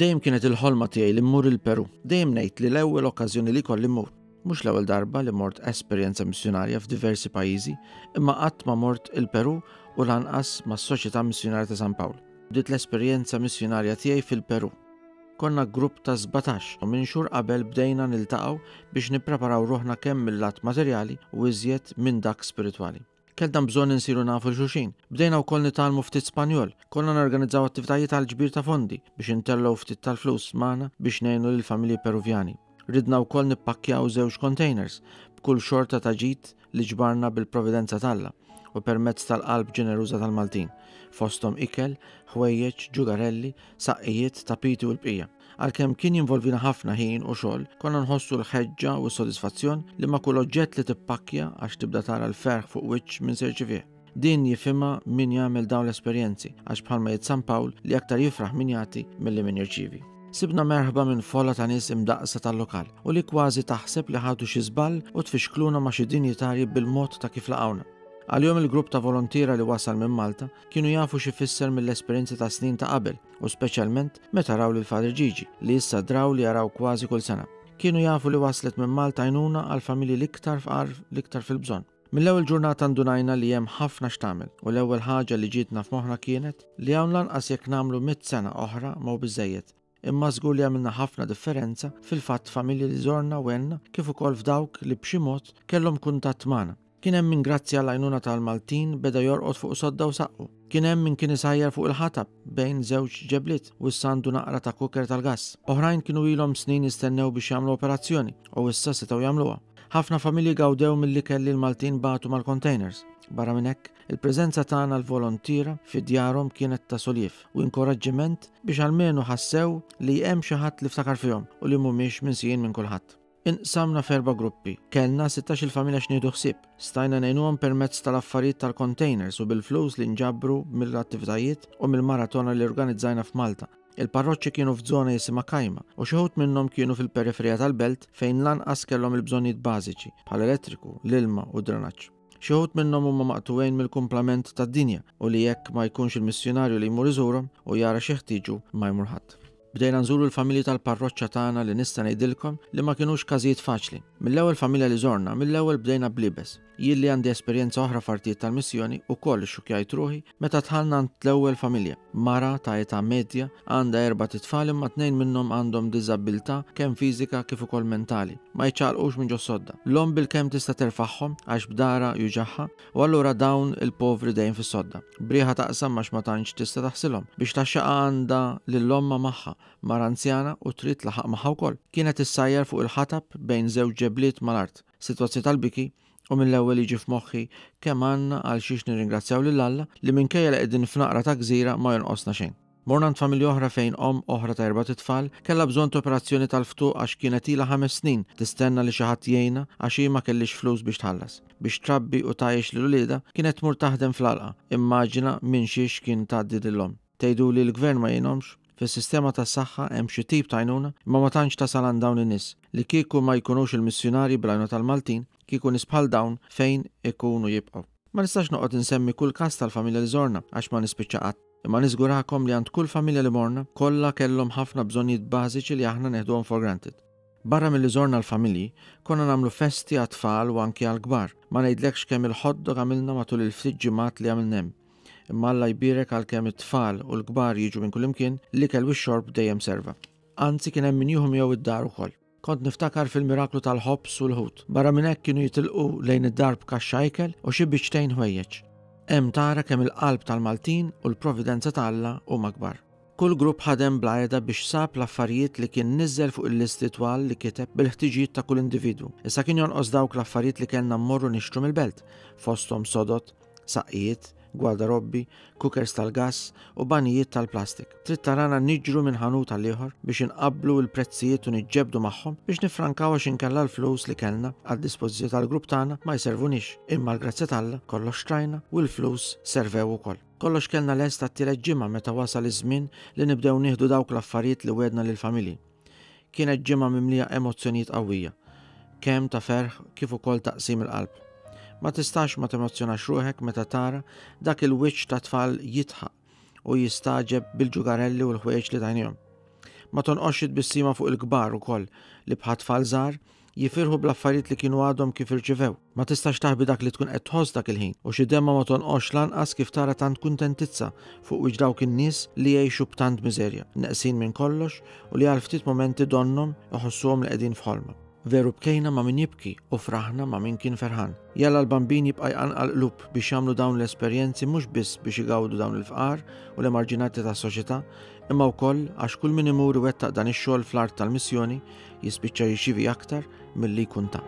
Minn dejjem kienet il-ħolma tiegħi li mmur il-Peru. Dejjem ngħid li l-ewwel okkażjoni li jkolli mmur. Mhux l-ewwel darba li mort esperjenza missjunarja f'diversi pajjiżi, imma qatt ma mort il-Peru u lanqas mas-Soċjetà Missjunarja ta' San Pawl. Bdiet l-esperjenza missjunarja tiegħi fil-Peru. Konna grupp ta' 17 u minn xhur qabel bdejna niltaqgħu biex nippreparaw ruħna kemm mil-lat materjali u iżjed minn dak spiritwali. Kellna bżonn insiru nafu 'l xulxin. Bdejna wkoll nitgħallmu ftit Spanjol. Konna norganizzaw attivitajiet għall-ġbir ta' fondi biex intellgħu ftit tal-flus magħna biex ngħinu lill-familji Peruvjani. Ridna wkoll nippakkjaw żewġ containers b'kull xorta ta' ġid li ġbarna bil-providenza t'Alla u permezz tal-qalb ġeneruża tal-Maltin, fosthom ikel, ħwejjeġ, ġugarelli, saqqijiet, tapiti u l-bqija. Għalkemm kien jinvolvina ħafna ħin u xogħol, konna nħossu l-ħeġġa u s-sodisfazzjon li ma' kull oġġett li tippakkja għax tibda tara l-ferħ fuq wiċċ min se jirċivih. Din jifhimha min jagħmel dawn l-esperjenzi, għax bħalma jgħid San Pawl li aktar jifraħ min jagħti milli min jirċievi. Sibna merħba minn folla ta' nies imdaqqsa tal-lokal u li kważi taħseb li ħadu xi żball u tfixkluna ma' xi dinjitarji bil-mod ta' kif laqgħuna. Għalihom il-grupp ta' volontiera li wasal minn Malta kienu jafu x'ifisser mill-esperjenzi ta' snin ta' qabel u speċjalment meta raw lil Father Gigi li issa draw li jaraw kważi kull sena. Kienu jafu li waslet minn Malta għajnuna għall-familji l-iktar fqar l-iktar fil-bżonn. Mill-ewwel ġurnata ndunajna li hemm ħafna x'tagħmel u l-ewwel ħaġa li ġietna f'moħħna kienet li hawn lanqas jekk nagħmlu mitt sena oħra ma hu biżżejjed. Imma żgur li għamilna ħafna differenza fil-fatt familji li żorna u għenna kif ukoll f'dawk li b'xi mod kellhom kuntatt magħna. Kien hemm min grazzi għall-għajnuna tal-Maltin beda jorqod fuq sodda u saqqu. Kien hemm min kien isajjar fuq il-ħatab bejn żewġ ġebliet u issa għandu naqra ta' cooker tal-gass. Oħrajn kienu ilhom snin jistennew biex jagħmlu operazzjoni u issa setgħu jagħmluha. Ħafna familji gawdew mill-ikel li l-Maltin bagħtu mal-containers. Barra minn hekk, il-preżenza tagħna l-volontiera fi djarhom kienet ta' soliev u inkoraġġiment biex almenu ħassew li hemm xi ħadd li ftakar fihom u li mhumiex minsijin minn kulħadd. Inqsamna f'erba' gruppi. Kellna 16-il familja x'nieħdu ħsieb. Stajna ngħinuhom permezz tal-affarijiet tal-containers u bil-flus li nġabru mill-attivitajiet u mill-maratona li organizzajna f'Malta. Il-parroċċi kienu f'żona jisimha Kajma u xi wħud minnhom kienu fil-periferija tal-belt fejn lanqas kellhom il-bżonnijiet bażiċi, bħal elettriku, l-ilma u d-drenaġġ. Xi wħud minnhom huma maqtugħin mill-kumplament tad-dinja u li jekk ma jkunx il-missjunarju li jmur iżurhom u jara x'jeħtieġu ma jmur ħadd. Bdejna nżuru l-familji tal-parroċċa tagħna li nista' ngħidilkom li ma kinux każijiet faċli. Mill-ewwel familja li żorna, mill-ewwel bdejna bl-iebes. Jien li għandi esperjenza oħra f'artijiet tal-missjoni ukoll ixxukkjajt ruħi meta dħalna għand l-ewwel familja. Mara ta' età medja, għandha erbat itfal imma tnejn minnhom għandhom diżabbiltà kemm fiżika kif ukoll mentali. Ma jiċċaqalqux minn ġos-sodda. L-omm bilkemm tista' terfagħhom għax b'darha juġagħha u allura dawn il-povri dejjem fis-sodda. B'riħa taqsam għax ma tantx tista' taħsilhom. Biex tgħaxxaqha għandha lil ommha magħha, mara anzjana u trid tlaħħaq magħha wkoll. Kienet issajjar fuq il-ħatab bejn żewġ ġebliet mal-art. Sitwazzjoni tal-biki u mill-ewwel jiġi f'moħħi kemm għandna għal xiex nirringrazzjaw lil Alla li minkejja li qegħdin f'naqra ta' gżira ma jonqosna xejn. Morna għand familja oħra fejn omm oħra ta' erbat itfal kellha bżonn ta' operazzjoni tal-ftuq għax kienet ilha ħames snin tistenna li xi ħadd jgħinha għax hi ma kellhiex flus biex tħallas. Biex trabbi u tgħajjex lil uliedha kienet tmur taħdem fl-għalqa. Immaġina minn xiex kien tgħaddi din l-omm. Tgħiduli l-gvern ma jgħinhomx? Fis-sistema tas-saħħa hemm xi tip ta' għajnuna, imma ma tantx tasal għand dawn in-nies. Li kieku ma jkunux il-missjunarji bl-għajnuna tal-Maltin, kieku nies bħal dawn fejn ikunu jibqgħu. Ma nistax noqgħod insemmi kull każ tal-familja li żorna għax ma nispiċċa qatt. Imma niżgurakom li għand kull familja li morna, kollha kellhom ħafna bżonnijiet bażiċi li aħna neħduhom for granted. Barra milli żorna l-familji, konna nagħmlu festi għat-tfal u anki għall-kbar. Ma ngħidlekx kemm il-hot dog għamilna matul il-ftit ġimgħat li għamilna hemm. Imma Alla jbierek għalkemm it-tfal u l-kbar jiġu minn kullimkien, l-ikel u x-xorb dejjem serva. Anzi kien hemm min jieħu miegħu id-dar ukoll. Kont niftakar fil-miraklu tal-ħobż u l-ħut. Barra minn hekk kienu jitilqu lejn id-dar b'kaxxa ikel u xi biċċtejn ħwejjeġ. Hemm tara kemm il-qalb tal-Maltin u l-providenza ta' Alla huma kbar. Kull grupp ħadem bla heda biex sab l-affarijiet li kien niżżel fuq il-listi twal li kiteb bil-ħtiġijiet ta' kull individwu. Issa kien jonqos dawk l-affarijiet li kellna mmorru nixtru mill-belt, fosthom sodod, saqqijiet, gwardarobbi, cookers tal-gass u banijiet tal-plastik. Trid tarana niġru minn ħanut għal ieħor biex inqabblu l-prezzijiet u niġġebdu magħhom biex niffrankaw għax inkella l-flus li kellna għad-dispożizzjoni tal-grupp tagħna ma jservuniex. Imma l-grazzja t'Alla kollox xtrajna u l-flus servew ukoll. Kollox kellna lest għat-tielet ġimgħa meta wasal iż-żmien li nibdew nieħdu dawk l-affarijiet li wegħdna lill-familji. Kienet ġimgħa mimlija emozzjonijiet qawwija, kemm ta' ferħ kif ukoll ta' qsim il-qalb. Ma tistax ma temozzjonax ruħek meta tara dak il-wiċċ ta' tfal jidħaq u jistagħġeb bil-ġugarelli u l-ħwejjeġ li tajnihom. Ma tonqosx it-tbissima fuq il-kbar ukoll li bħat-tfal żgħar jifirħu bl-affarijiet li kienu għadhom kif irċivew. Ma tistax taħbi dak li tkun qed tħoss dak il-ħin u xi demgħa ma tonqosx lanqas kif tara tant kuntentizza fuq wiċċ dawk in-nies li jgħixu b'tant miżerja, neqsin minn kollox u li għal ftit mumenti donnhom iħossuhom li qegħdin f'ħolma. Veru bkejna ma' min jibki u fraħna ma' min kien ferħan. Jalla l-Bambin jibqa' jqanqal qlub biex jagħmlu dawn l-esperjenzi mhux biss biex igawdu dawn il-fqar u l-emarġinati tas-soċjetà, imma wkoll għax kull min imur iwettaq dan ix-xogħol fl-art tal-missjoni jispiċċa jirċievi aktar milli jkun ta.